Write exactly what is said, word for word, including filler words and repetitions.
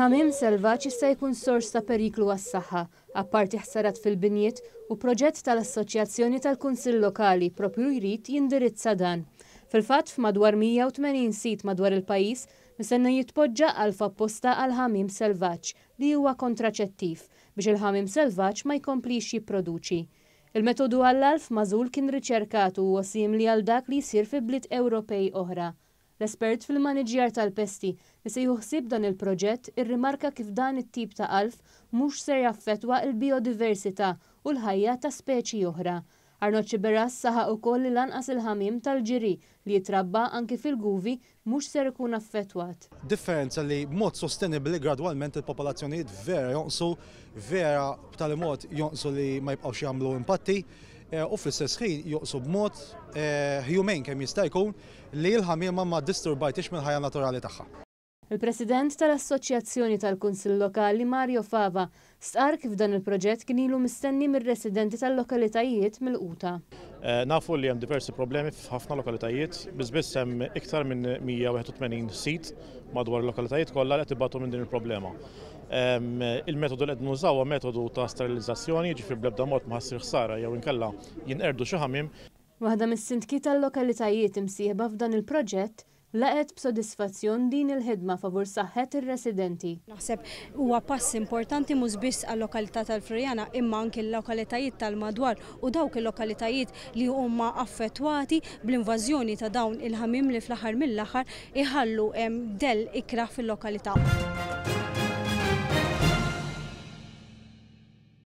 Il-ħamiem selvaġġ jista' jkun sors ta' periklu għas-saħħa, apparti ħsarat fil-binjiet, u proġett tal-Assoċjazzjoni tal-Kunsill Lokali propju jrid jindirizza dan. Fil-fatt, f'madwar mija u tmenin sit madwar il-pajjiż mistenna jitpoġġa għalf apposta għal ħamiem selvaġġ li huwa kontraċettiv biex il-ħamiem selvaġġ ma jkomplix jipproduċi. Il-metodu għall-alf magħżul kien riċerkat u huwa simili għal dak li jsir fi bliet Ewropej oħra. L-espert fil-maniġjar tal-pesti li se jieħu ħsieb dan il-proġett irrimarka kif dan it-tip ta' alf mhux ser jaffettwa il-biodiversità u l-ħajja ta' speċi oħra. Arnold Sciberras saħaq ukoll li lanqas il-ħamiem tal-ġiri li jitrabba anki fil-guvi mhux ser ikun affettwat. Differenza li b'mod sostenibli gradwalment il-popolazzjonijiet vera jonqsu, vera b'tali mod jonqsu li ma jibqgħux jagħmlu impatti eh, u fl-istess ħin jonqsu b'mod eh, humane kemm jista' jkun li l-ħamiema ma disturbajtix mill-ħajja naturali tagħha. Il-President tal-Assoċjazzjoni tal-Kunsill Lokali, Mario Fava, stqar kif dan il-proġett kien ilu mistenni mir-residenti tal-lokalitajiet milquta. Eh, nafu li hemm diversi problemi f'ħafna lokalitajiet, biss biss hemm iktar minn mija u wieħed u tmenin sit madwar il-lokalitajiet kollha li qed ibatu minn din il-problema. Il-metodu li qed nużaw huwa metodu ta' sterilizzazzjoni, ġifieri bl-ebda mod ma ssir ħsara jew inkella jinqerdu xi ħamiem. Waħda mis-sindki tal-lokalitajiet imsieħba f'dan il-proġett laqgħet b'sodisfazzjon din il-ħidma favur saħħet ir-residenti. Naħseb huwa pass importanti mhux biss għal-lokalità tal-Floriana, imma anke l-lokalitajiet tal-madwar u dawk il-lokalitajiet li huma affettwati bl-invażjoni ta' dawn il-ħamiem li fl-aħħar mill-aħħar iħallu dell ikrah fil-lokalità.